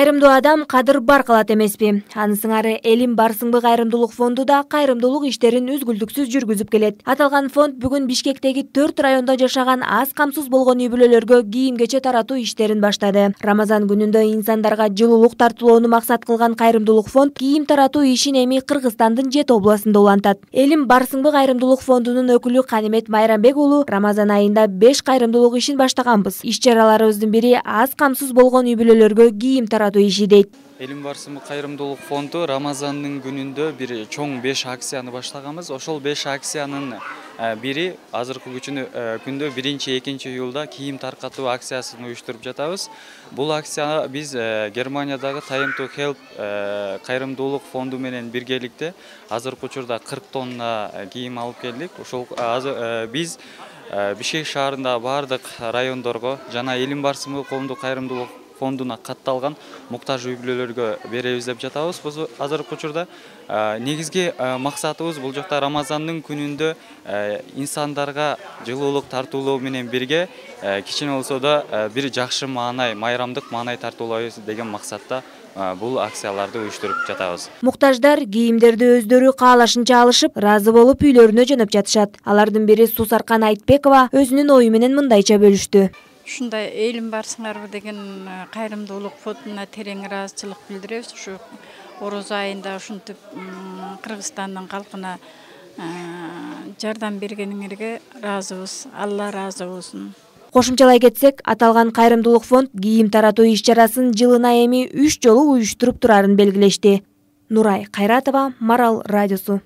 Кайрымдуу адам кадыр бар кылат эмеспи? Аны сыңары Элим Барсыңбы кайрымдуулук фонду да кайрымдуулук иштерин үзгүлтүксүз жүргүзүп келет. Аталган фонд бүгүн Бишкектеги 4 райондо жашаган аз камсыз болгон үй-бүлөлөргө кийим-кече таратуу иштерин баштады. Рамазан күнүндө инсандарга жылуулук тартуулоону максат кылган кайрымдуулук фонд кийим таратуу ишин эми Кыргызстандын 7 областында улантат. Элим Барсыңбы кайрымдуулук фондунун өкүлү Канимет Майрамбек уулу Рамазан айында 5 кайрымдуулук ишин баштаганбыз. Иш-чараларыбыздын бири аз камсыз болгон үй-бүлөлөргө кийим таратуу иши дейт. Элим Барсыңбы кайрымдуулук фонду Рамазандын күнүндө бир чоң 5 акцияны баштаганбыз. Ошол 5 акциянын бири азыркы күндө 1-2 июлда кийим таркатуу акциясын уюштуруп жатабыз. Бул акция биз Германиядагы Time to Help кайрымдуулук фонду менен биргеликте азыркы учурда 40 тонна кийим алып келдик. Ошол биз Бишкек шаарындагы бардык райондорго жана Элим Барсыңбы коомдук кайрымдуулук фондуна катталган муктаж үй-бүлөлөргө беребиз деп жатабыз. Бул азыркы учурда негизги максатыбыз бул жакта Рамазандын күнүндө инсандарга жылуулук тартуулоо менен бирге кичине болсо да бир жакшы маанай, майрамдык маанай тартуулайбыз деген максатта бул акцияларды уюштуруп жатабыз. Муктаждар кийимдерди өздөрү каалашынча алышып, ыраазы болуп үйлөрүнө жөнөп жатышат. Алардын бири Сусаркан Айтбекова өзүнүн ою менен мындайча бөлүштү. Ушундай Элим Барсыңарбы деген кайрымдуулук фондуна терең ыраазычылык билдиребиз. Ушу Орозо айында ушинтип Кыргызстандын калкына жардам бергениңерге ыраазыбыз. Алла ыраазы болсун. Кошумчалай кетсек, аталган кайрымдуулук фонд кийим таратуу иш-чарасын жылына эми 3 жолу уюштуруп турарын белгилешти. Нурай Кайратова, Марал радиосу.